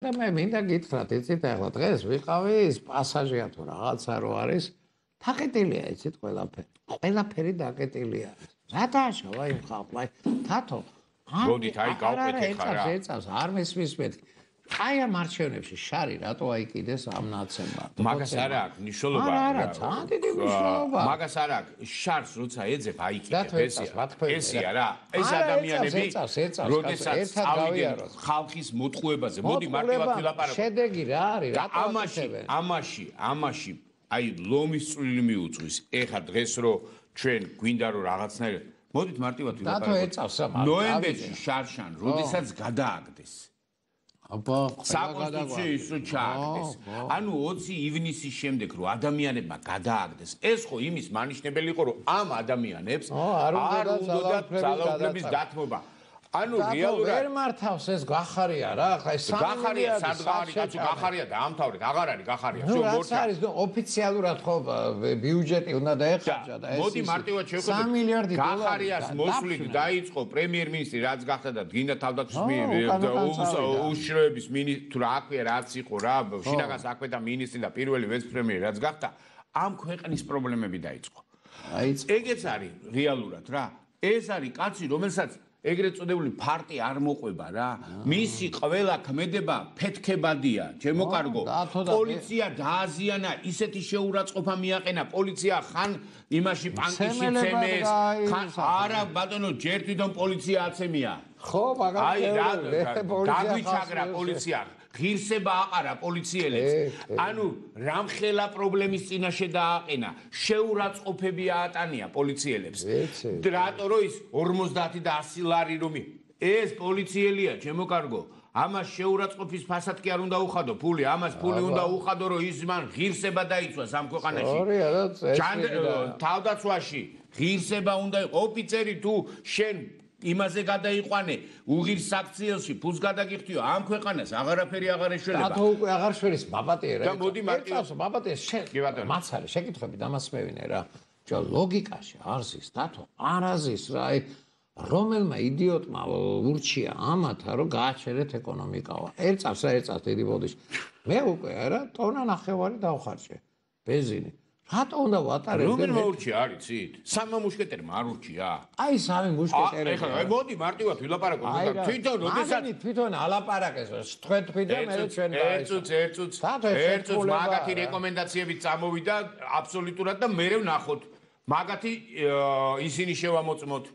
და მე მინდა გითხრათ, იცით ახლა დღეს ვიყავი ის პასაჟია თუ რაღაცა რო არის, თაკეტილია იცით ყველაფერი. ყველაფერი დაკეტილია. რატაშავა იმ ხალხს? თათო. მოდით აი გავყეთე ხარა. ეცავს არ მესმის მეთქი. აი ამ არჩევნებში შარი რატო აიკიდეს ამ ნაცემმა? მაგას არ აქვს მნიშვნელობა. არა, ძალიან დიდი მნიშვნელობა. მაგას არ აქვს შარს როცა ეძებ აიკიდებ ესია რა. ეს ადამიანები როდესაც წავიდნენ ხალხის მოტყუებაზე, მოდი მარტივად ვილაპარაკო. შედეგი რა არის? ამაში აი ლომის წვლილი მიუძღვის. ეხა დღეს რო ჩვენ გვინდა რომ რაღაცნაირად მოდით მარტივად ვილაპარაკო. ნოემბერში შარშან როდესაც გადააგდეს აბა საკონსტიტუციო ისო ჩააგდეს. ანუ 20 ივნისის შემდეგ რო ადამიანებმა გადააგდეს, ეს ხო იმის მანიშნებელი იყო, რომ ამ ადამიანებს არ უნდათ ძალაუფლების დათმობა. ანუ რეალურად ვერ მართავს ეს გახარია რა, ხა ეს გახარია სადღარი კაცო გახარია დაამთავრეთ, აღარ არის გახარია. ნუ რაც არის, ნუ ოფიციალურად ხო ბიუჯეტი უნდა დაეხარჯა და ეს მოდი მარტივად შევხედოთ. 3 მილიარდი დოლარი გახარიას მოსვლით დაიწყო პრემიერ-მინისტრი, რაც გახდა და გინდა თავდაცვის უშიშროების მინისტრი, თუ რა აქვია, რაც იყო რა, შინაგან საქმეთა მინისტრი და პირველი ვეცე-პრემიერი რაც გახდა, ამ ქვეყნის პრობლემები დაიწყო. ეგეც არის რეალურად რა. ეს არის კაცი, რომელსაც ეგრეთ წოდებული ფარტი არ მოყვება რა. მისი ყველა ქმედება ფეთქებადია, ჩემო კარგო. პოლიცია დააზიანა, ისეთი შეურაცხყოფა მიაყენა, პოლიცია ხან იმაში პანკიში ცემეს, ხან არა ბატონო, ჯერ თვითონ პოლიცია აცემია. ხო, მაგალითად. აი რა, გაგვიჩაგრა პოლიცია. ღირსება აყარა პოლიციელებს. ანუ რამხელა პრობლემის წინაშე დააყენა, შეურაცხყოფები აატანია პოლიციელებს. რატო რო ის 50 და 100 ლარი რომი ეს პოლიციელია, ჩემო კარგო. ამას შეურაცხყოფის ფასად კი არ უნდა უხადო ფული, ამას ფული უნდა უხადო, რომ ის მან ღირსება დაიცვას ამ ქვეყანაში. თავდაცვაში ღირსება უნდა ოფიცერი თუ შენ იმაზე გადაიყვანე უღირს საქციელში ფულს გადაგიხდიო ამ ქვეყანას აღარაფერი აღარ ეშველება. დათო უკვე აღარ შველის ბაბატიერა. და მოდი მარტივად ბაბატიერს მაცარე შეკითხები დამას მევინე რა. ჯო ლოგიკაში არზის დათო არაზის რა რომელმა იდიოტმა ურჩია ამათა რომ გააჩერეთ ეკონომიკავა. ერწავს დიდი ბოდიში. მე უკვე რა ტონა ნახევარი დავხარჯე ბენზინი. რატო უნდა ვატარებ? რომელ მოურჩია არიცით? სამმა მუშკეტერმა არ ურჩია. აი სამი მუშკეტერი. ეხლა მოდი მარტივად ვილაპარაკო. თვითონ როდესაც თვითონ ალაპარაკეს თქვენ და მე ჩვენ ერთს მაგათი რეკომენდაციებით წამოვიდა აბსოლუტურად და მე ვნახოთ. მაგათი ისინი შევამოწმოთ.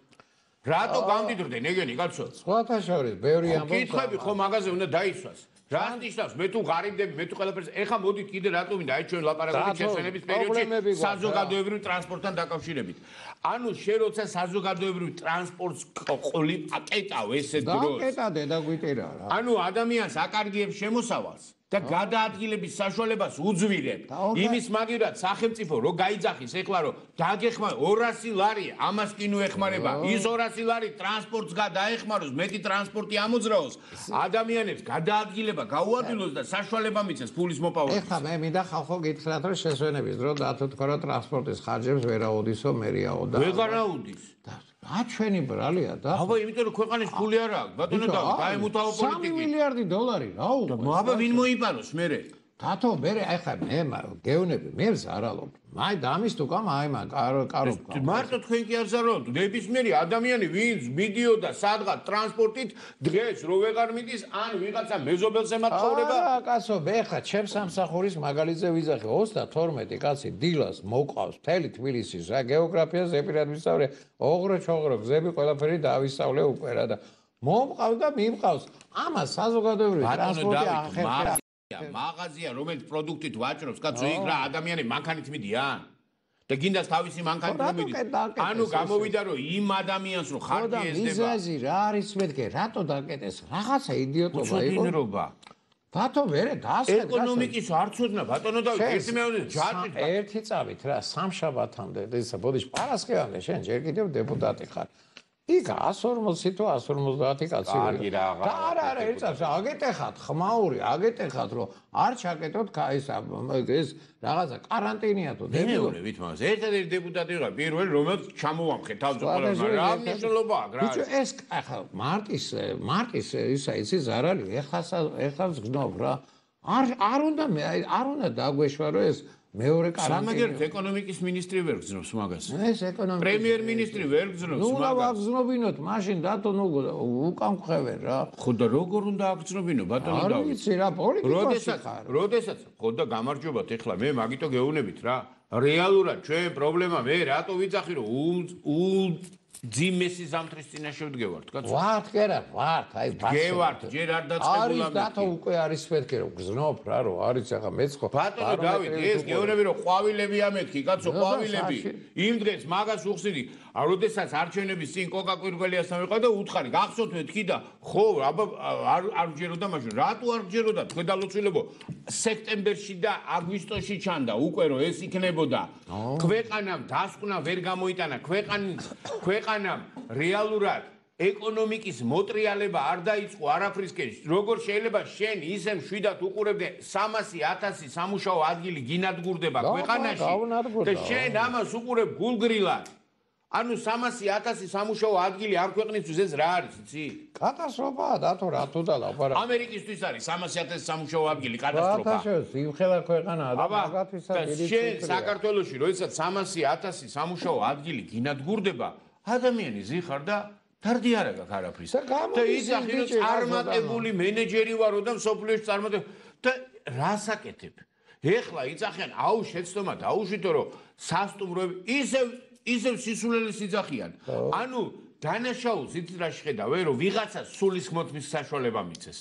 რატო გამდიდრდნენ ეგენი კაცო? სხვათა შორის ბევრი ამბობს. კითხები ხო მაგაზე უნდა დაისვას. რას ნიშნავს მე თუ ღარიბდები მე თუ ყველაფერს ეხა მოდით კიდე რატო მინდა აი ჩვენ ლაპარაკობთ შესვენების პერიოდში საზოგადოებრივ ტრანსპორტთან დაკავშირებით. ანუ შენ როცა საზოგადოებრივ ტრანსპორტს ყოლი აკეტავ ესე დროს. აკეტადე და გვიტირა რა. ანუ ადამიანს აკარგიებს შემოსავალს და გადაადგილების საშუალებას უძვირებ. იმის მაგივრად სახელმწიფო რო გაიძახის ეხლა რომ დაგეხმა 200 ლარი ამას კი ნუ ეხმარება. ის 200 ლარი ტრანსპორტს გადაეხმაროს, მეტი ტრანსპორტი ამოძრაოს, ადამიანებს გადაადგილება გაუადვილოს და საშუალება მიცეს ფულის მოპოვებას. ეხლა მე მინდა ხალხო გითხრათ რომ შესვენების დრო დათო თქვა რომ ტრანსპორტის ხარჯებს ვერ აუდისო მერიაო და ვეღარ აუდის. რა ჩვენი ბრალია და აბა იმიტომ რომ ქვეყანის ფული არ აქვს ბატონო და დაემუთავო პოლიტიკით 3 მილიარდი დოლარი რა უნდა აბა ვინ მოიპაროს მერე დათო მერე ახლა მე გეუნები მე ზარალობ აი დამის თუ კამ აი მაგ კარო მარტო თქვენ კი არ ზარალობთ ნებისმიერი ადამიანი ვინც მიდიოდა სადღაც ტრანსპორტით დღეს რო ვეღარ მიდის ან ვიღაცა მეზობელს ემატხოვრება არა კაცო მე ხა ჩემს სამსახურის მაგალითზე ვიზახე 32 კაცი დილას მოყავს მთელი თბილისის რა გეოგრაფია ზეპირად ვისწავლე ოღრო ჩოღრო გზები ყველაფერი დავისწავლე უკვე რა და მომყავს და მიმყავს ამას საზოგადოებრივი ტრანსპორტი ახერხებს მაღაზია რომელიც პროდუქტით ვაჭრობს კაცო იქ რა ადამიანები მანქანით მიდიან და გინდას თავისი მანქანით მიდის ანუ გამოვიდა რომ იმ ადამიანს რო ხარჯი ეძება მიზეზი რა არის მეთქე რატო დაკეტეს რაღაცა იდიოტობა იყო უცოდინრობა ბატო მერე დაასწრე ეკონომიკის არ ცოდნა ბატონო და ერთი მეორე ჯაჭვით ერთი წავით რა სამშაბათამდე ისა ბოდიში პარასკევამდე შენ ჯერ კიდევ დეპუტატი ხარ იქ 140 თუ 150 კაცი კარგი და არა ეცავს აგეტეხათ ხმაური აგეტეხათ რომ არ ჩაკეტოთ ეს რაღაცა კარანტინია თუ დეპუტატებით მას ერთ-ერთი დეპუტატი იყო პირველი რომელიც ჩამოვამხე თავმჯდომარეობა რა მნიშვნელობა აქვს რა ბიჭო ეს ახლა მარტის ისა იცის არ არის ეხლა გზნობ რა არ უნდა დაგვეშვა რომ ეს მეორე კარანტინა სამაგერთ ეკონომიკის მინისტრი ვერ გზნობს მაგას ეს ეკონომიკის პრემიერ-მინისტრი ვერ გზნობს მაგას ნუ ვაგზნობინოთ მაშინ დათო ნუ უკან ხევენ რა ხო და როგორ უნდა აგზნობინო ბატონო დავით არ ვიცი რა პოლიტიკოსი ხარ როდესაც ხო და გამარჯობათ ეხლა მე მაგიტო გეუბნებით რა რეალურად ჩვენ პრობლემა მე რატო ვიცახი რომ ძიმესი ზამთრის წინაშე ვდგევართ კაცო ვართ კერა ვართ აი გევართ ჯერ არ დაწყებულა არის დათო უკვე არის მეთქი რომ გზნობ რა რომ არის ახლა მეც ხო ბატონო დავით ეს გეუბნები რომ ყვავილები ამეთქი კაცო ყვავილები იმ დღეს მაგას უხსიდი როდესაც არჩევნების წინ კოკა-კვირგველიასთან ვიყავ და უთხარი გახსოვთ მეთქი და ხო აბა არ გჯეროდა მაშინ რატო არ გჯეროდა თქვენ დალოცვილებო სექტემბერში და აგვისტოში ჩანდა უკვე რომ ეს იქნებოდა ქვეყანამ დასკვნა ვერ გამოიტანა ქვეყანამ რეალურად ეკონომიკის მოტრიალება არ დაიწყო არაფრისკენ როგორ შეიძლება შენ ისე მშვიდად უყურებდე 300,000 სამუშაო ადგილი გინადგურდება ქვეყანაში და შენ ამას უყურებ გულგრილად ანუ 300,000 სამუშაო ადგილი ამ ქვეყნისთვის ეს რა არის იცი კატასტროფაა დათო რატო და ლაპარაკი ამერიკისთვის არის 300,000 სამუშაო ადგილი კატასტროფა იმხელა ქვეყანაა და მაგათვისაც შენ საქართველოში როდესაც 300,000 სამუშაო ადგილი გინადგურდება ადამიანი ზიხარ და დარდი არ აქვს არაფრის და იცახი რომ წარმატებული მენეჯერი ვარო და სოფლიოში წარმატებული და რას აკეთებ ეხლა იცახიან აუ შეცდომა დაუშვითო რომ სასტუმროები ისევ სისულელეს იძახიან ანუ დანაშაულს იცით რა შეხედავე რომ ვიღაცა სულის მოთმის საშუალება მიცეს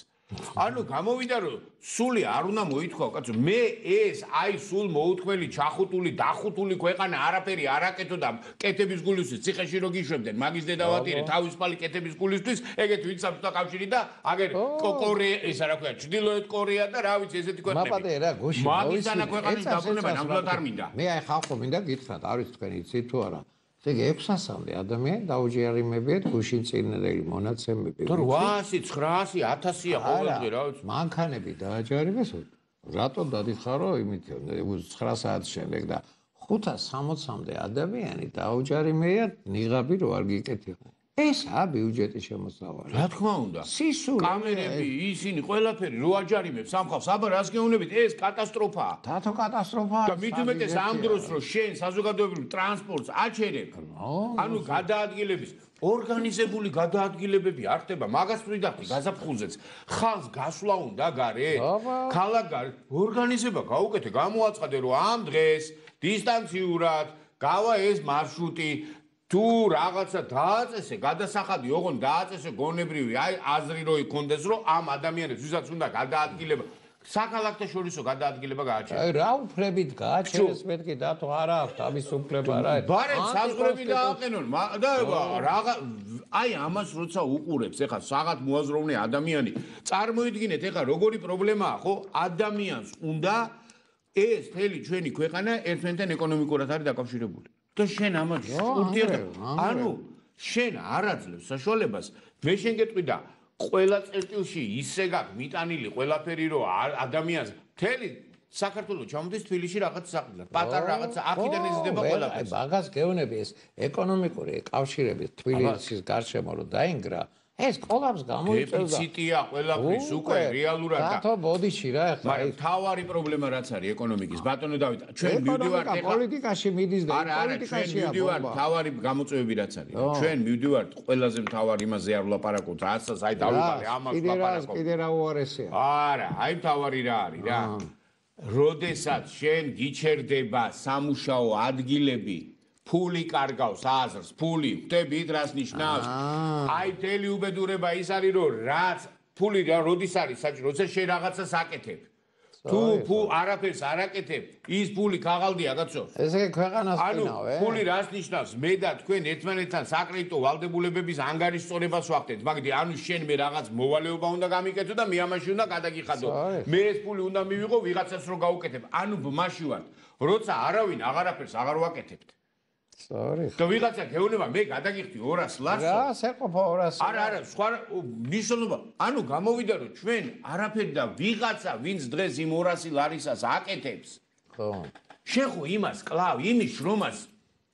ანუ გამოვიდა რომ სული არ უნდა მოითქვა კაცო მე ეს აი სულ მოუთქმელი ჩახუტული დახუტული ქვეყანა არაფერი არ აკეთო და კეთების გულისთვის ციხეში რო გიშვებდნენ მაგის დედავატირე თავისუფალი კეთების გულისთვის ეგეთ ვიცავთ და კავშირი და აგერ კორეა ისა რა ქვია ჩრდილოეთ კორეა და რა ვიცი ესეთი ქვეყნები მაპატე რა გუში მაგისანა ქვეყნის დაბრუნება ნამდვილად არ მინდა მე აი ხალხო მინდა გითხრათ არის თქვენ იცით თუ არა ეგ 600-მდე ადამიანი დაუჯერიმებიათ გუშინ წინდელი მონაცემები. 800, 900, 1000-ია ყოველდღე რა ვიცი. მანქანები დააჯერიმეს. რატომ დადიხარო იმით 9 საათის შემდეგ და 560-მდე ადამიანი დაუჯერიმეა ნიღაბი რო არ გიკეთებია. ესა ბიუჯეტის შემოსავალი. რა თქმა უნდა. სისული კამერები, ისინი ყველაფერი რო აჯარიმებს სამხავს, აბა რას გეუბნებით, ეს კატასტროფაა. დათო კატასტროფაა. და მით უმეტეს ამ დროს რო შენ საზოგადოებრივ ტრანსპორტს აჩერებ, ანუ გადაადგილების ორგანიზებული გადაადგილებები არ ხდება, მაგას ვიდახდი გაზაფხულზეც. ხალხს გასვლა უნდა გარეთ. ქალაქ ორგანიზება გაუკეთე, გამოაცხადე რომ ამ დღეს დისტანციურად გავა ეს მარშრუტი თუ რაღაცა დააწესე, გადასახადი ოღონდ დააწესე გონებრივი, აი აზრი რო იქონდეს, რომ ამ ადამიანებს ვისაც უნდა გადაადგილება, საქალაქთაშორისო გადაადგილება გააჩერეს. აი რა უფლებით გააჩერეს მეთქი დათო არა აქვს ამის უფლება რა. ბარემ საზღვრები დააყენონ და რაღა აი ამას როცა უყურებს, ეხლა საღად მოაზროვნე ადამიანი, წარმოიდგინეთ ეხლა როგორი პრობლემაა, ხო? ადამიანს უნდა ეს მთელი ჩვენი ქვეყანა ერთმანეთთან ეკონომიკურად არის დაკავშირებული. და შენ ამას ურთიერთობა ანუ შენ არ აძლევს საშუალებას მე შენ გეტყვი და ყველა წერტილში ისე გაქვს მიტანილი ყველაფერი რომ ადამიანს მთელი საქართველოს ჩამოდის თბილისში რაღაც საყიდლად პატარა რაღაც აქედან იზრდება ყველაფერი მაგას გეუბნები ეს ეკონომიკური კავშირების თბილისის გარშემო რომ დაინგრა ეს კოლაპს გამოიწევდა. დეფიციტია ყველაფრის უკვე რეალურად და დათო ბოდიში რა ახლა. მაგრამ თავარი პრობლემა რაც არის ეკონომიკის ბატონო დავით ჩვენ მივდივართ ეხლა პოლიტიკაში მიდის და პოლიტიკაში მივდივართ თავარი გამოწვევები რაც არის. ჩვენ მივდივართ ყველაზე მთავარ იმაზე არ ვლაპარაკობთ რასაც აი დავიყარე ამას ვლაპარაკობ. კიდე რა უარესია. არა აი თავარი რა არის რა. როდესაც შენ გიჩერდება სამუშაო ადგილები ფული კარგავს აზრს, ფული, ხვდებით რას ნიშნავს? აი მთელი უბედურება ის არის, რომ რაც ფული როდის არის საჭირო, როცა შენ რაღაცას აკეთებ. თუ არაფერს არ აკეთებ, ის ფული ქაღალდია, კაცო. ესე ქვეყანას ფინავ, ფული რას ნიშნავს? მე და თქვენ ერთმანეთთან საკრედიტო ვალდებულებების ანგარიშწორებას ვახდეთ, მაგდი ანუ შენ მე რაღაც მოვალეობა უნდა გამიკეთო და მე ამაში უნდა გადაგიხადო. მე ეს ფული უნდა მივიღო ვიღაცას რო გავუკეთებ. ანუ ბმაში ვარ, როცა არავინ აღარაფერს აღარ ვაკეთებთ. სწორი. და ვიღაცა გეუბნება მე გადაგიხდი 200 ლარს. რა, შეყოფა 200. არა, სხვა ნიშნულობა. ანუ გამოვიდა რომ ჩვენ არაფერი და ვიღაცა ვინც დღეს იმ 200 ლარისას აკეთებს. ხო. შენ ხო იმას კლავ, იმის შრომას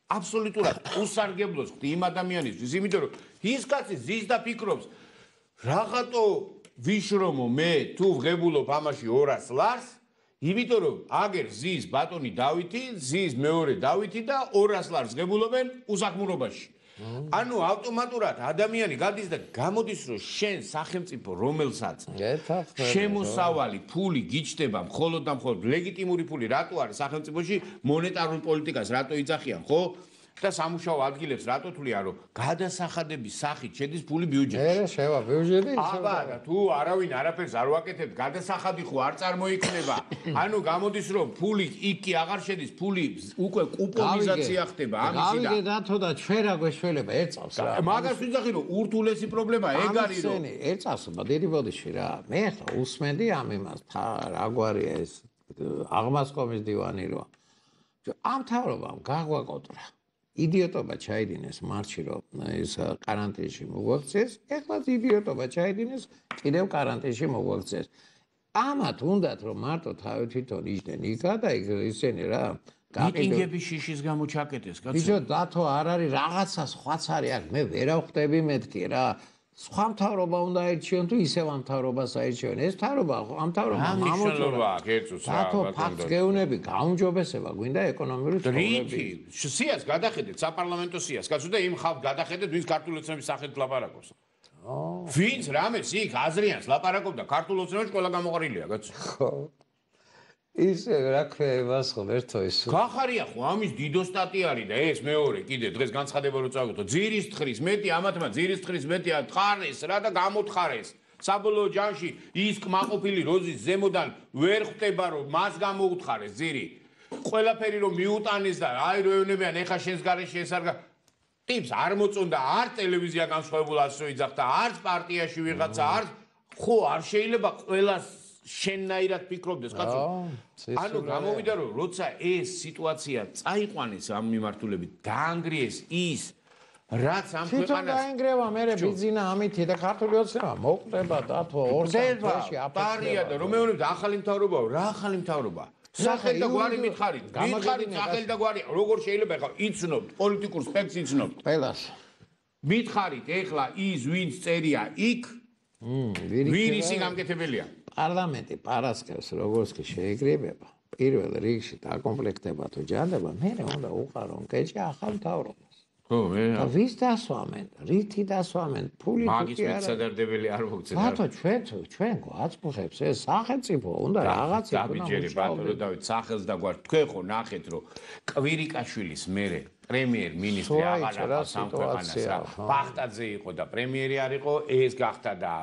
აბსოლუტურად უსარგებლოს ხდი იმ ადამიანისთვის, იმიტომ რომ ის კაცი ზის და ფიქრობს რაღაცო ვიშრომო მე თუ ვღებულობ ამაში 200 ლარს, იმიტომ რომ აგერ ზის ბატონი დავითი, ზის მეორე დავითი და 200 ლარს ღებულობენ უსახმურობაში. ანუ ავტომატურად ადამიანი გადის და გამოდის რომ შენ სახელმწიფო რომელსაც შემოსავალი ფული გიჩნდება მხოლოდ და მხოლოდ ლეგიტიმური ფული რატო არის სახელმწიფოში მონეტარულ პოლიტიკას რატო იძახიან ხო და სამუშაო ადგილებს რატო თვლიან რომ გადასახადების სახით შედის ფული ბიუჯეტში. შევა ბიუჯეტი აბა თუ არავინ არაფერს არ ვაკეთებ გადასახადი ხო არ წარმოიქმნება. ანუ გამოდის რომ ფული იქ კი აღარ შედის ფული უკვე კუპონიზაცია ხდება ამისი და გავიგე დათო და ჩვენ რა გვეშველება ერწავს რა. მაგას ვიძახი რომ ურთულესი პრობლემა ეგ არის რომ ერწავს დიდი ბოდიში რა. მე ხა უსმენდი ამ იმას რა გვარია ეს აღმასკომის დივანი რო ამ თავრობამ გაგვაკოტრა. იდიოტობა ჩაიდინეს მარტში რომ ეს კარანტინში მოგვაქცეს, ეხლაც იდიოტობა ჩაიდინეს კიდევ კარანტინში მოგვაქცეს. ამათ უნდათ რომ მარტო თავი თვითონ იჯდნენ იქა და ისინი რა მიტინგების შიშის გამო ჩაკეტეს კაცო. ბიჭო დათო არ არის რაღაცა სხვაც არის აქ მე ვერ ავხდები მეთქი რა. სხვა მთავრობა უნდა აირჩიონ თუ ისევ ამ მთავრობას აირჩიონ. ეს მთავრობა ამ მთავრობამ ამოწურა კეცოს რა დათო ფაქტს გეუნები გაუმჯობესება გვინდა ეკონომიური რითი სიას გადახედეთ საპარლამენტო სიას კაცო და იმ ხალხს გადახედეთ ვინც ქართულ ოცნების სახით ლაპარაკობს. ვინც რამეს იქ აზრიანს ლაპარაკობდა ქართულ ოცნებაში ყველა გამოყრილია კაცო. ხო ისე რა ქვია იმას ხო ერთო ის გახარია ხო ამის დიდო სტატია არის და ეს მეორე კიდე დღეს განცხადება რო წავიღო ძირის თხრის მეტი ამათმა ძირის თხრის მეტი თხარეს რა და გამოთხარეს საბოლოო ჯამში ის კმაყოფილი როზის ზემოდან ვერ ხვდება რომ მას გამოუთხარეს ძირი ყველაფერი რომ მიუტანეს და აი რო ეუნებიან ეხა შენს გარეშე ეს არ ტიპს არ მოწონდა არ ტელევიზია განსხვავებულ ასო იძახდა არც პარტიაში ვიღაცა არ ხო არ შეიძლება ყველას შენნაირად ფიქრობდეს კაცო. ანუ გამოვიდა რომ როცა ეს სიტუაცია წაიყვანეს ამ მიმართულებით დაანგრიეს ის რაც ამ ქვეყანას დაანგრევა მე ბიზინა ამითი და ქართული ოცნება მოკვდება დათო ორსა პარია და რომ მეუბნებთ ახალი მთავრობაა რა ახალი მთავრობა სახელი და გვარი მითხარით სახელი და გვარი როგორ შეიძლება ხა იცნობთ პოლიტიკურ სპექტს იცნობთ ყველას მითხარით ეხლა ის ვინც წერია იქ ვინ ისი გამკეთებელია პარლამენტი პარასკევს როგორც კი შეიგრებება პირველ რიგში დაკომპლექტება თუ ჯანდება მე უნდა უყარონ კეჭი ახალ მთავრობას ხო მე ვის დასვამენ რითი დასვამენ ფული მაგის მეცადარდებელი არ მოგწევ ბატო ჩვენ გვაწუხებს ეს სახელმწიფო უნდა რაღაცა დაბიჯერე ბატონო დავით სახელს და გვარ თქვენ ხო ნახეთ რომ კვირიკაშვილის მერე პრემიერ-მინისტრი აღარ სამქვეყანას რა ბახტაძე იყო და პრემიერი არ იყო ეს გახდა და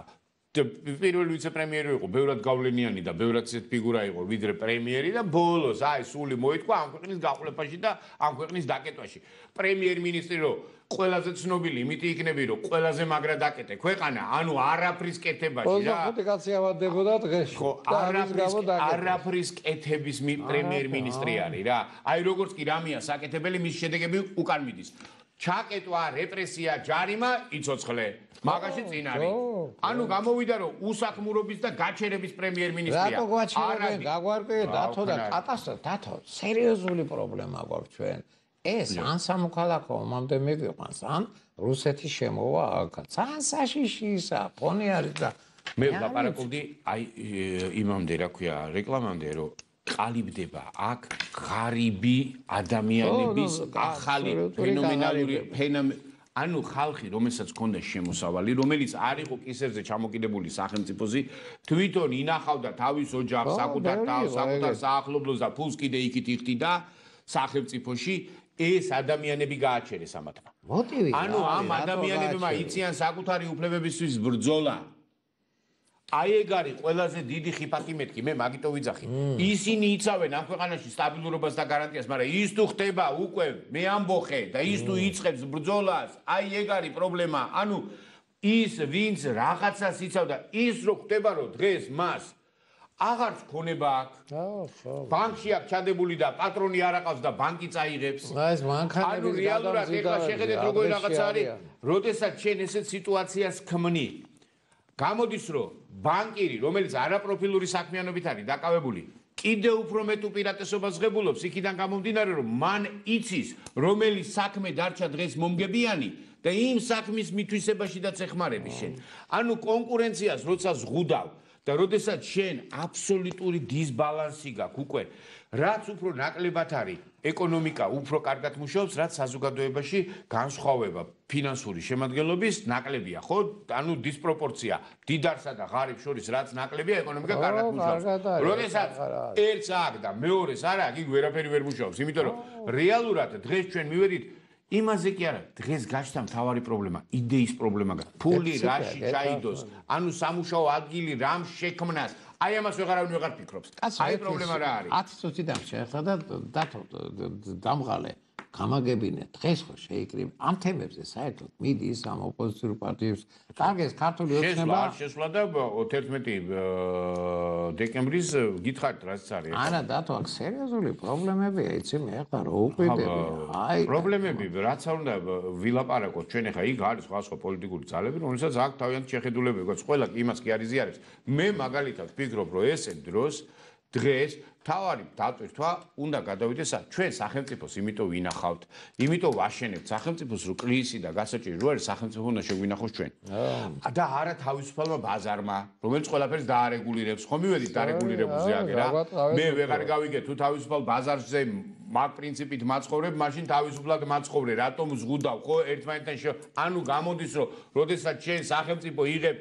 პირველი ვიცე-პრემიერი იყო ბევრად გავლენიანი და ბევრად ისეთ ფიგურა იყო ვიდრე პრემიერი და ბოლოს აი სული მოითქვა ამ ქვეყნის გაყულებაში და ამ ქვეყნის დაკეტვაში პრემიერ-მინისტრი რო ყველაზე ცნობილი იმითი იქნები რომ ყველაზე მაგრა დაკეტე ქვეყანა ანუ არაფრის კეთებაში რა 25 კაცი ავადდებოდა დღეში ხო არაფრის კეთების პრემიერ-მინისტრი არის რა აი როგორც კი რამეა საკეთებელი მის შედეგები უკან მიდის ჩაკეტვა რეპრესია ჯარიმა იცოცხლე მაგაში წინ არის ანუ გამოვიდა რომ უსახმურობის და გაჩერების პრემიერ-მინისტრია რატო გაჩერებენ გაგვარკვიე დათო და კატასტროფა დათო სერიოზული პრობლემა გვაქვს ჩვენ ეს ან სამოქალაქო ომამდე მიგვიყვანს ან რუსეთის შემოვა აქაც ან საშიში ისა ფონი არის და მე ვლაპარაკობდი აი იმამდე რა ქვია რეკლამამდე რომ ყალიბდება აქ ღარიბი ადამიანების ახალი ფენომენალური ანუ ხალხი რომელსაც ჰქონდა შემოსავალი რომელიც არ იყო კისერზე ჩამოკიდებული სახელმწიფოზე თვითონ ინახავდა თავის ოჯახს საკუთარ თავს საკუთარ საახლობლოს და ფულს კიდე იქით იხდიდა სახელმწიფოში ეს ადამიანები გააჩერეს ამათმა მოტივი ანუ ამ ადამიანებმა იციან საკუთარი უფლებებისთვის ბრძოლა აი ეგ არის ყველაზე დიდი ხიფათი მეთქი მე მაგიტო ვიძახი ისინი იცავენ ამ ქვეყანაში სტაბილურობას და გარანტიას მაგრამ ის თუ ხდება უკვე მე ამბოხე და ის თუ იწყებს ბრძოლას აი ეგ არის პრობლემა ანუ ის ვინც რაღაცას იცავდა ის რო ხდება რომ დღეს მას აღარც ქონება აქვს. ბანკში აქვს ჩადებული და პატრონი არ აყავს და ბანკი წაიღებს. ეს მანქანების ანუ რეალურად ეხლა შეხედეთ როგორი რაღაცა არის, როდესაც შენ ესეთ სიტუაციას ქმნი. გამოდის რომ ბანკირი, რომელიც არაპროფილური საქმიანობით არის დაკავებული, კიდევ უფრო მეტ უპირატესობას ღებულობს იქიდან გამომდინარე რომ მან იცის რომელი საქმე დარჩა დღეს მომგებიანი და იმ საქმის მითვისებაშიდაც ეხმარები შენ. ანუ კონკურენციას როცა ზღუდავ და როდესაც შენ აბსოლუტური დისბალანსი გაქვს უკვე, რაც უფრო ნაკლებად არის ეკონომიკა უფრო კარგად მუშაობს, რაც საზოგადოებაში განსხვავება ფინანსური შემადგენლობის ნაკლებია, ხო? ანუ დისპროპორცია დიდარსა და ღარიბს შორის რაც ნაკლებია, ეკონომიკა კარგად მუშაობს. როდესაც ერთს აქვს და მეორეს არ აქვს, იგი ვერაფერი ვერ მუშაობს, იმიტომ რომ რეალურად დღეს ჩვენ მივედით იმაზე კი არა, დღეს გაჩნდა მთავარი პრობლემა, იდეის პრობლემა გაქვს. ფული რაში ჩაიდოს, ანუ სამუშაო ადგილი რამ შექმნას. აი ამას ვეღარ ფიქრობს. აი პრობლემა რა არის? 10 წუთი დამშე ახლა და დამღალე გამაგებინე დღეს ხო შეიკრიბ ამ თემებზე საერთოდ მიდის ამ ოპოზიციურ პარტიებს კარგეს ქართული ოცნება შესვლა და 11 დეკემბრის გითხარით რაც არის არა დათო აქ სერიოზული პრობლემებია იცი მე ახლა რო უყვიდები აი პრობლემები რაც არ უნდა ვილაპარაკოთ ჩვენ ახლა იქ არის სხვა პოლიტიკური ძალები რომელსაც აქ თავიანთი შეხედულებები გვაქვს ყველა იმას კი არ იზიარებს მე მაგალითად ვფიქრობ რომ ესე დღეს თავარი დატვირთვა უნდა გადავიდეს ჩვენ სახელმწიფოს იმიტომ ვინახავთ იმიტომ ვაშენებთ სახელმწიფოს რო კრიზისი და გასაჭირი რო არის სახელმწიფო უნდა შეგვინახოს ჩვენ და არა თავისუფალმა ბაზარმა რომელიც ყველაფერს დაარეგულირებს ხომ მივედით დარეგულირებულზე აგერა მე ვეღარ გავიგე თუ თავისუფალ ბაზარზე მაგ პრინციპით მაცხოვრებ მაშინ თავისუფლად მაცხოვრე რატომ ზღუდავ ხო ერთმანეთთან ანუ გამოდის რომ როდესაც ჩვენ სახელმწიფო იღებ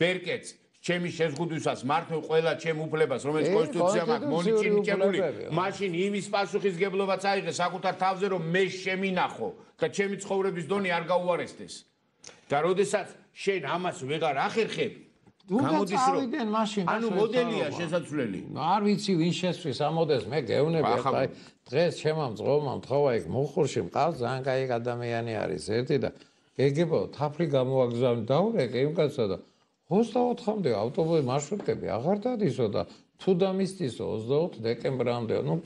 ბერკეტს ჩემი შეზღუდვისას მართო ყველა ჩემ უფლებას რომელიც კონსტიტუცია მაქვს მონიჭებული მაშინ იმის პასუხისგებლობაც აიღე საკუთარ თავზე რომ მე შემინახო და ჩემი ცხოვრების დონე არ გაუარესდეს და როდესაც შენ ამას ვეღარ ახერხებ გამოდის რომ ანუ მოდელია შესაძლებელი არ ვიცი ვინ შესვრის ამოდეს მე გევნები ახლა დღეს ჩემო მძღოლმა მთხოვა იქ მუხურში მყავს ძალიან კაი ადამიანი არის ერთი და გეგებო თაფლი გამოაგზავნე დაურეკე იმ კაცსა და 24-მდე ავტობუსი მარშრუტები აღარ დადისო და თუ დამისდისო 28 დეკემბრამდე ნუ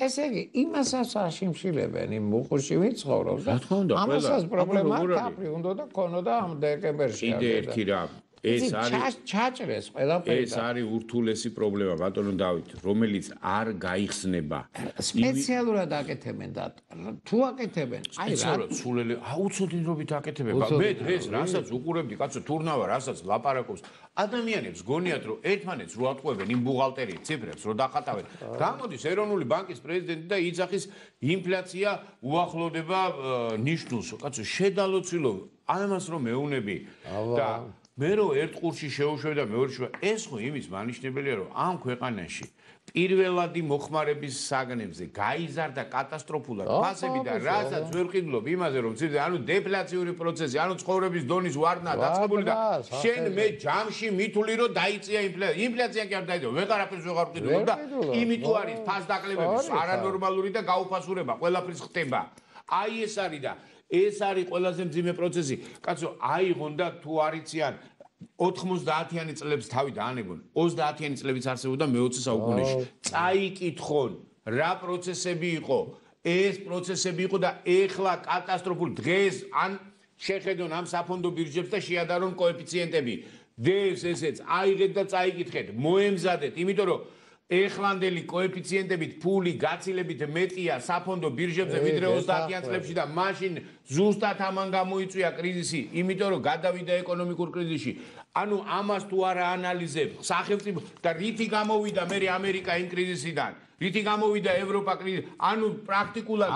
ესე იგი იმასაც აშიმშილებენ იმ მუხურში ვინ ცხოვრობს და ამასაც პრობლემა თაფლი უნდა და ქონოდა ამ დეკემბერში კიდე ერთი რამ ეს არის ჩაჭრეს ყველაფერი ეს არის ურთულესი პრობლემა ბატონო დავით რომელიც არ გაიხსნება სპეციალურად აკეთებენ და თუ აკეთებენ აი რა სულელი აუცილებლობით აკეთებენ მე დღეს რასაც უყურებდი კაცო თურნავა რასაც ლაპარაკობს ადამიანებს გონიათ რომ ერთმანეთს რო ატყვევენ იმ ბუღალტერიის ციფრებს რო დახატავენ გამოდის ეროვნული ბანკის პრეზიდენტი და იძახის ინფლაცია უახლოვდება ნიშნულს კაცო შედალოცილო ამას რომ მეუნები და მე რო ერთ ყურში შეუშვებ და მეორე ეს ხო იმის მანიშნებელია რომ ამ ქვეყანაში პირველადი მოხმარების საგნებზე გაიზარდა კატასტროფულად ფასები და რასაც ვერ ვყიდულობ იმაზე რომ ცირდა ანუ დეფლაციური პროცესი ანუ ცხოვრების დონის ვარდნა დაწყებული და შენ მე ჯამში მithული რომ დაიწია ინფლაცია კი არ დაიწია ვეღარაფერს ვეღარ ვყიდულობ და იმით თუ არის ფასდაკლებების არანორმალური და გაუფასურება ყველაფრის ხდება აი ეს არის და ეს არის ყველაზე მძიმე პროცესი. კაცო, აიღონ და თუ არიციან 90-იანი წლების თავი დაანებონ. 30-იანი წლებიც არსებობდა მე-20 საუკუნეში. წაიკითხონ რა პროცესები იყო. ეს პროცესები იყო და ეხლა კატასტროფული დღეს ან შეხედონ ამ საფონდო ბირჟებს და შეადარონ კოეფიციენტები. დღეს ესეც აიღეთ და წაიკითხეთ. მოემზადეთ, იმიტომ რომ ეხლანდელი კოეფიციენტებით ფული გაცილებით მეტია საფონდო ბირჟებზე ვიდრე 30-იან წლებში და მაშინ ზუსტად ამან გამოიწვია კრიზისი, იმიტომ რომ გადავიდა ეკონომიკურ კრიზისში. ანუ ამას თუ არა ანალიზებ, სახელმწიფო და რითი გამოვიდა მე ამერიკა იმ კრიზისიდან, რითი გამოვიდა ევროპა კრიზისიდან, ანუ პრაქტიკულად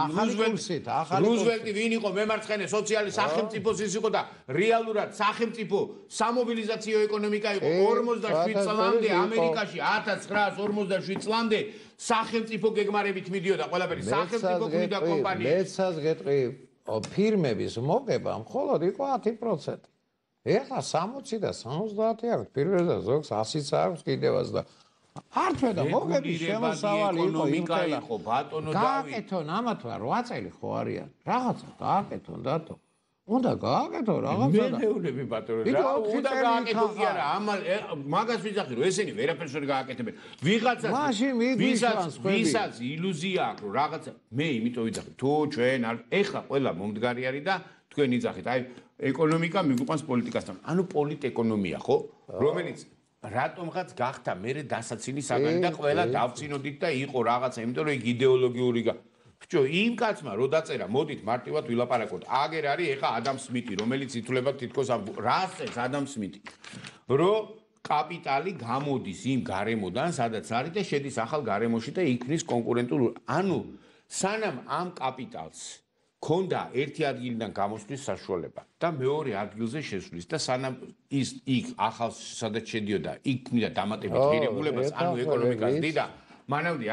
რუზველტი ვინ იყო მემარცხენე სოციალი სახელმწიფოს ის იყო და რეალურად სახელმწიფო სამობილიზაციო ეკონომიკა იყო 47 წლამდე ამერიკაში 1947 წლამდე სახელმწიფო გეგმარებით მიდიოდა ყველაფერი სახელმწიფო ქმნიდა კომპანიებს მეცას გეტყვი ფირმების მოგება მხოლოდ იყო 10%. ეხლა 60 და 70 აქვს პირველ და ზოგს 100-იც აქვს კიდევაც და არჩევა და მოგების შემოსავალი იყო ბატონო დავით გააკეთონ ამათ 8 წელი ხო არიან რაღაცა გააკეთონ დათო უნდა გააკეთო რაღაცა და მეურნეები ბატონო რა უნდა გააკეთო კი არა მაგას ვიძახი რომ ესენი ვერაფერს ვერ გააკეთებენ ვისაც ილუზია აქვს რომ რაღაცა მე იმიტომ ვიძახი თუ ჩვენ ეხლა ყველა მომდგარი არის და თქვენ იძახით აი ეკონომიკა მიგვიყვანს პოლიტიკასთან ანუ პოლიტეკონომია ხო რომელიც რატომღაც გახდა მე დასაცინი საგანი და ყველა დავწინოდით და იყო რაღაცა იმიტომ რომ იქ იდეოლოგიური ბჭო იმ კაცმა რო დაწერა მოდით მარტივად ვილაპარაკოთ აგერ არის ეხა ადამ სმიტი რომელიც ითვლება თითქოს რას წერს ადამ სმიტი რომ კაპიტალი გამოდის იმ გარემოდან სადაც არის და შედის ახალ გარემოში და იქნის კონკურენტულ ანუ სანამ ამ კაპიტალს ქონდა ერთი ადგილიდან გამოსვლის საშუალება და მეორე ადგილზე შესვლის და სანამ ის იქ ახალ სადაც შედიოდა იქ ქმნიდა დამატებით ღირებულებას ანუ ეკონომიკას დიდა მანამდე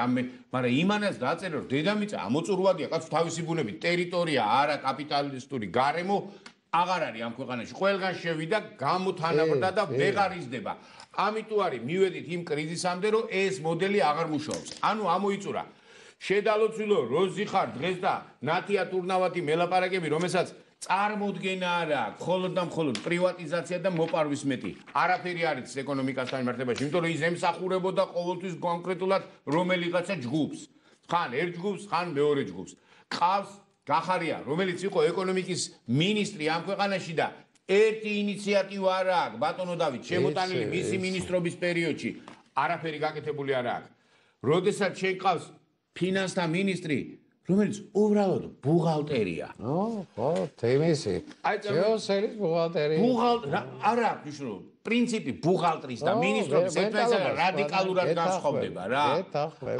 მაგრამ იმანაც დაწერა რომ დედამიწა ამოწურვადია კაც თავისი ბუნებით ტერიტორია არა კაპიტალისტური გარემო აღარ არის ამ ქვეყანაში ყველგან შევიდა გამოთანაბრდა და ვეღარ იზრდება ამიტომ არის მივედით იმ კრიზისამდე რომ ეს მოდელი აღარ მუშაობს ანუ ამოიწურა შედალოცვილო როზი ხარ დღეს და ნათია ტურნავათი მელაპარაკები რომელსაც წარმოდგენა არა მხოლოდ და მხოლოდ პრივატიზაცია და მოპარვის მეტი არაფერი არის ეკონომიკასთან მიმართებაში იმიტომ რომ ის ემსახურებოდა ყოველთვის კონკრეტულად რომელიღაცა ჯგუფს ხან ერთ ჯგუფს ხან მეორე ჯგუფს ყავს გახარია რომელიც იყო ეკონომიკის მინისტრი ამ ქვეყანაში და ერთი ინიციატივა არ აქვს ბატონო დავით შემოტანილი მისი მინისტრობის პერიოდში არაფერი გაკეთებული არ აქვს როდესაც შეყავს ფინანსთა მინისტრი რომელიც უბრალოდ ბუღალტერია. ხო, თემისი. ჯეოსერის ბუღალტერია. არა, ნიშნულ პრინციპი ბუღალტრის და მინისტრობის ერთმანეთსგან რადიკალურად განსხვავდება რა.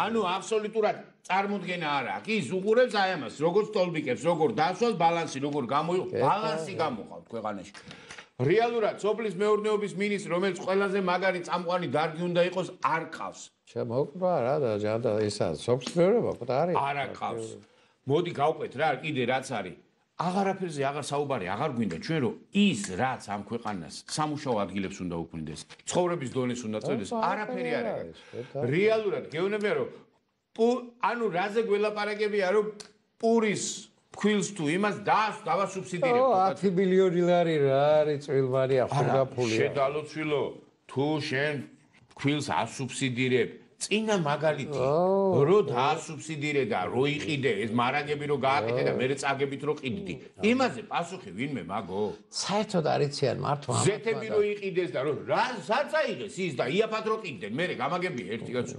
ანუ აბსოლუტურად წარმოდგენა არ აქვს. ის უყურებს აი ამას, როგორ სტოლბიკებს, როგორ დასვას ბალანსი, როგორ ბალანსი გამოყავთ ქვეყანაში. რეალურად სოფლის მეურნეობის მინისტრი, რომელიც ყველაზე მაგარი წამყვანი დარგი უნდა იყოს, არ ყავს. შემოკვდა რა და ჯანდა ისა სოფლის მეურნეობა ხო არის? არა ყავს. მოდი გავყვეთ რა, კიდე რაც არის. აღარაფერზე აღარ საუბარი, აღარ გვინდა ჩვენ რომ ის რაც ამ ქვეყანას სამუშაო ადგილებს უნდა უქმნიდეს, ცხოვრების დონეს უნდა წევდეს, არაფერი არ არის. რეალურად გეუბნებია რომ ანუ რაზე გველაპარაკებია რომ პურის ქვილს თუ იმას დავასუბსიდირებ. 10 მილიონი ლარი რა არის წვილვარია ხურგაფულია. შედალოცვილო, თუ შენ ქვილს ასუბსიდირებ, წინა მაგალითი, რო დაასუბსიდირე და რო იყიდე, ეს მარაგები რო გააკეთე და მე წაგებით რო ყიდდი. იმაზე პასუხი ვინმე მაგო? საერთოდ არიციან მართლა. ზეთები რო იყიდეს და რო რა საწაიღეს ის და იაფად რო ყიდდნენ, მე გამაგები ერთი კაცო.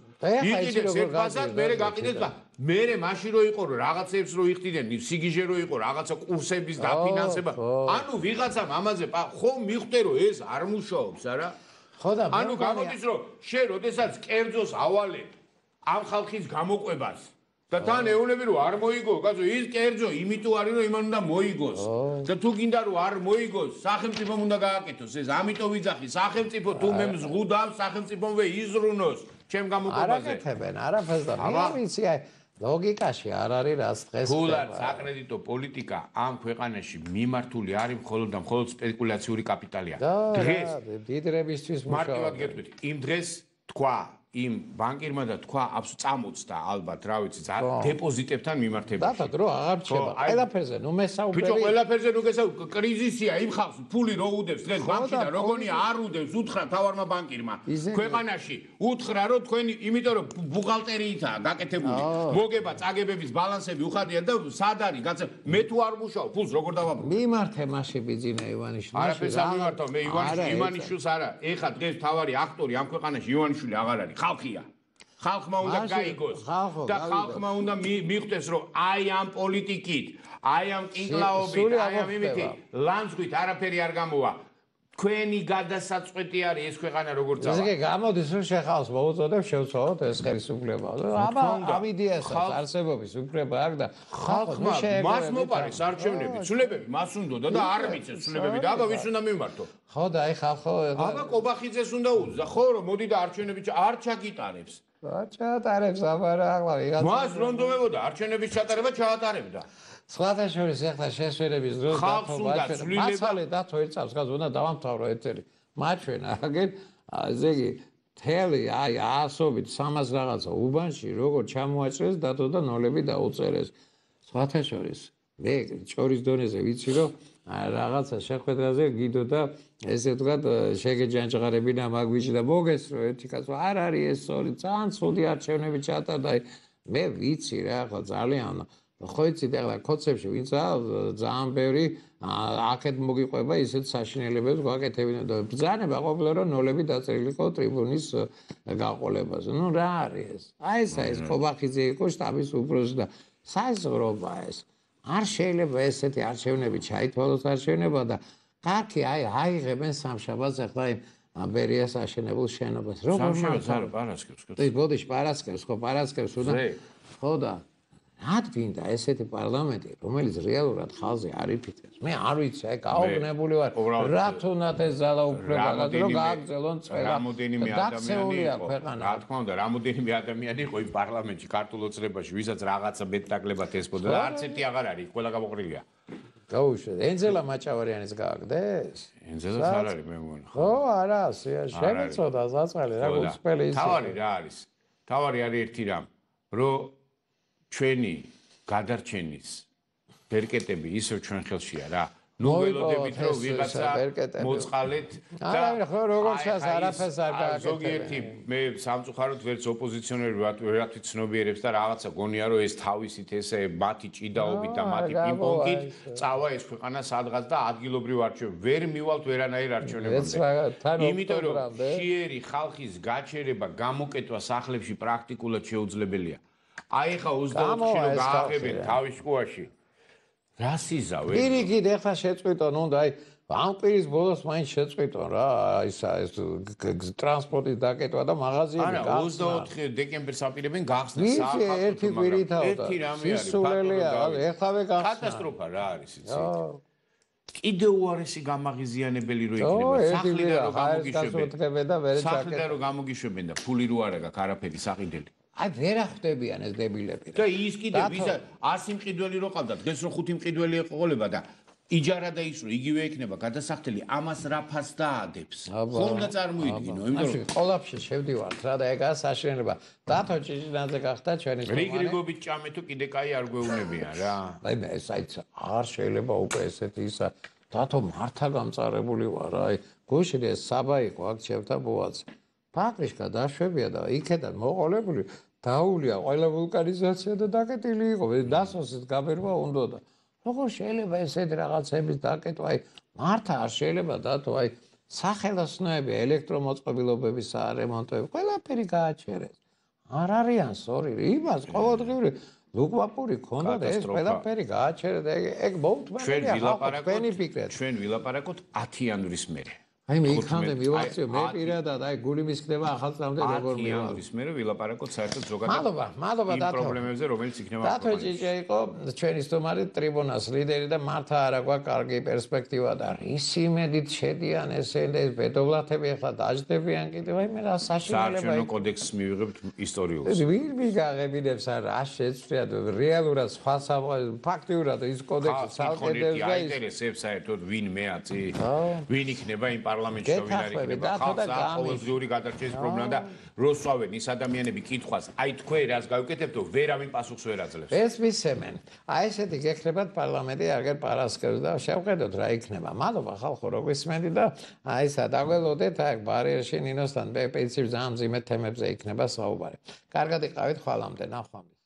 იყიდეს ერთ ფასად, მე გაყიდეს და მე მაშინ რო იყო რომ რაღაცებს რო იხდიდნენ, სიგიჟე რო იყო რაღაცა კურსების დაფინანსება. ანუ ვიღაცამ ამაზე ხო მიხვდე რომ ეს არ მუშაობს, არა? ანუ გამოდის რომ შენ როდესაც კერძოს ავალებ ამ ხალხის გამოყვებას და თან ეუბნები რომ არ მოიგო, კაცო ის კერძო იმიტომ არის რომ იმან უნდა მოიგოს და თუ გინდა რომ არ მოიგოს, სახელმწიფომ უნდა გააკეთოს ეს, ამიტომ ვიძახი, სახელმწიფო თუ მე მზღუდავს, სახელმწიფომვე იზრუნოს ჩემ გამოყვებაზე. არაკეთებენ, არაფერს და მე ვიცი აი ლოგიკაში არ არის რაც დღეს ფულად საკრედიტო პოლიტიკა ამ ქვეყანაში მიმართული არის მხოლოდ და მხოლოდ სპეკულაციური კაპიტალია. დღეს დიდრებისთვის მარტივად გეტყვით, იმ დღეს თქვა იმ ბანკირმა და თქვა წამოწდა ალბათ, რა ვიცი, დეპოზიტებთან მიმართებაში. დათო დრო აღარ რჩება. ყველაფერზე ნუ მესაუბერი. ბიჭო, ყველაფერზე ნუ გესაუბარი, კრიზისია, იმ ხალხს ფული რო უდევს დღეს ბანკში და როგორია არ უდევს, უთხრა თავარმა ბანკირმა. ქვეყანაში უთხრა რომ თქვენი, იმიტომ რომ ბუღალტერიითაა გაკეთებული. მოგება წაგებების ბალანსები უხადია და სად არის? მე თუ არ მუშაობ, ფულს როგორ დავაბრო? მიმართე მასში ბიძინა ივანიშვილი. არაფერს არ მიმართავ, მე ივანიშვილს არა. ეხა დღეს თავარი აქტორი ამ ქვეყანაში ივანიშვილი აღარ არის. ხალხია. ხალხმა უნდა გაიგოს და ხალხმა უნდა მიხვდეს რომ აი ამ პოლიტიკით, აი ამ კინკლაობით, აი ამ იმითი ლანძღვით არაფერი არ გამოვა. თქვენი გადასაწყვეტი არის ეს ქვეყანა როგორ წავა. ესე იგი გამოდის რომ შეხავს მოუწოდებ შევცვალოთ ეს ხელისუფლება. აბა ამიდიასაც არსებობის უფლება აქვს და ხალხმა მას მოპარეს არჩევნები, ცვლილებები მას უნდოდა და არ მიცეს ცვლილებები და აბა ვის უნდა მიმართო? ხო და აი ხალხო აბა კობახიძეს უნდა უძდა ხო რომ მოდი და არჩევნები არ ჩაგიტარებს. ჩაატარებს აბა რა ახლა ვიღაცა მას რონდომებოდა არჩევნების ჩატარება ჩაატარებდა. სხვათა შორის ახლა შესვენების დროს მაცალე დათო ერთ წამს გაზ უნდა დავამთავრო ეთერი. მაჩვენა აგერ ესე იგი თელი აი ასობით 300 რაღაცა უბანში როგორ ჩამოაჭრეს დათო და ნოლები დაუწერეს. სხვათა შორის მე ჭორის დონეზე ვიცი რომ რაღაცა შეხვედრაზე გიდო და ესე ვთქვათ შეგეჯანჯღარებინა მაგვიჭი და მოგესრო ერთი კაცო არ არის ეს სწორი ძალიან ცუდი არჩევნები ჩატარდა მე ვიცი რა ხო ძალიან ხო იცით ახლა კოცებში ვინც ძალიან ბევრი აქეთ მოგიყვება ისეთ საშინელებებს გვაკეთებინა და ბრძანება ყოფილა რომ ნოლები დაწერილიყო ტრიბუნის გაყოლებაზე ნუ რა არის ეს ყობახიძე იყო შტაბის უფროსი და საზღვრობა ეს არ შეიძლება ესეთი არჩევნები ჩაითვალოს არჩევნება და კარგი აიღებენ სამშაბათს ახლა იმ ბერიას აშენებულ შენობას როგორ შეიძლება პარასკევს ბოდიში პარასკევს ხო და რად გინდა ესეთი პარლამენტი რომელიც რეალურად ხალხზე არ იფიქრებს მე არ ვიცი აი გაუგნებული ვარ რა თუნდაც ეს ძალაუფლება რომ გააგრძელონ წველა რამოდენიმე ადამიანი იყო რა თქმა უნდა რამოდენიმე ადამიანი იყო იმ პარლამენტში ქართულ ოცნებაში ვისაც რაღაცა მეტნაკლებად ესწოდა და არც ერთი აღარ არის ყველა გამოყრილია გაუშვეთ ენძელა მაჭავარიანის გააგდეს ენძელას არ არის მე მგონი ხო არა შემეწოდა ზაწყალი რა გულწრფელი ის თავარი რა არის თავარი არის ერთი რამ რომ ჩვენი გადარჩენის ბერკეტები ისევ ჩვენ ხელშია რა ნუ ველოდებით რომ ვიღაცა მოწყალეთ და ხო როგორც ჩანს არაფერს არ გააკეთებენ ზოგიერთი მე სამწუხაროდ ვერც ოპოზიციონერი ვერაფრით ცნობიერებს და რაღაცა გონია რომ ეს თავისით ესე მათი ჭიდაობით და მათი პინგ-პონგით წავა ეს ქვეყანა სადღაც და ადგილობრივ არჩევნებში ვერ მივალთ ვერანაირ არჩევნებამდე იმიტომ რომ ხიერი ხალხის გაჩერება გამოკეთვა სახლებში პრაქტიკულად შეუძლებელია აი ხა 24-ში რომ გააღებენ თავის შუაში რა სიზავე პირიქით ეხლა შეწყვიტონ უნდა აი ამ პირის ბოლოს მაინც შეწყვიტონ რა ეს ტრანსპორტის დაკეტვა და მაღაზიები არა 24 დეკემბერს აპირებენ გახსნას საფრთხე ერთი კვირითავდა სისულელია ეხლავე გახსნა კატასტროფა რა არის იცით კიდე უარესი გამაღიზიანებელი რო იქნება სახლიდან რომ გამოგიშვებენ და ფული რო არა გაქვს არაფერი საყიდელი აი ვერ ახდებიან ეს დებილები და ის კიდე 100 მყიდველი რო ყავდა დღეს რო 5 მყიდველი ეყოლება და იჯარა და ის რო იგივე იქნება გადასახდელი ამას რა ფას დაადებს ხომ და წარმოიდგინო იმიტომ რომ ყოლაფში შევდივართ რა და ეგაა საშინელება დათო ჭიჭინაძე გახდა ჩვენი რიგრიგობით ჭამე თუ კიდე კაი არ გვეუბნებიან რა აი მე საით არ შეიძლება უკვე ესეთი ისა დათო მართა გამწარებული ვარ აი გუშინ ეს საბა იყო აქ ჩემთა ბოაც ფატრიშკა დაშვებია და იქედან მოყოლებული დაულია ყველა ვულკანიზაცია და დაკეტილი იყო დასოსის გამერვა უნდოდა როგორ შეიძლება ესეთი რაღაცების დაკეტვა აი მართა არ შეიძლება დათო აი სახელოსნოები ელექტრომოწყობილობების სარემონტოები ყველაფერი გააჩერეს არ არიან სწორი იმას ყოველდღიური ლუკვაპური ქონდა და ეს ყველაფერი გააჩერეს ეგ მოუთმენელია თქვენი ფიქრით ჩვენ ვილაპარაკოთ 10 იანვრის მერე აი მე იქამდე მივახციო მე პირადად აი გული მისკდება ახალწლამდე როგორ მიანვრის მერე ვილაპარაკოთ საერთოდ ზოგადად მადლობა იმ პრობლემებზე რომელიც იქნება დათო ჭიჭე იყო ჩვენი სტუმარი ტრიბუნას ლიდერი და მართა არა გვაქვს კარგი პერსპექტივა და ისი იმედით შედიან ესენდა ეს ბედოვლათები ახლა დაждდებიან კიდევ აი მე რა საშინელება საარჩევნო კოდექსს მივიღებთ ისტორიულს ვინ მიგაღებინებს რა შეცვლად რეალურად სხვა ფაქტიურად ის კოდექსი ცალკედებს და აინტერესებს საერთოდ ვინ მეაცი ვინ იქნება იმ პარლამენტში რომ ვინ არ იქნება ხალხს ყოველდღიური გადარჩენის პრობლემა და როსვავენ ის ადამიანები კითხვას აი თქვენ რას გავიკეთებთ ვერავინ პასუხს ვერ აძლევს ეს მისცემენ აი ესეთი გექნებათ პარლამენტი აგერ პარასკევს და შევხედოთ რა იქნება მადლობა ხალხო რო გვისმენთ და აი ესა დაგველოდეთ აი ბარიერში ნინოსთან პეიცი ძალიან მძიმე თემებზე იქნება საუბარი კარგად იყავით ხვალამდე ნახვამდის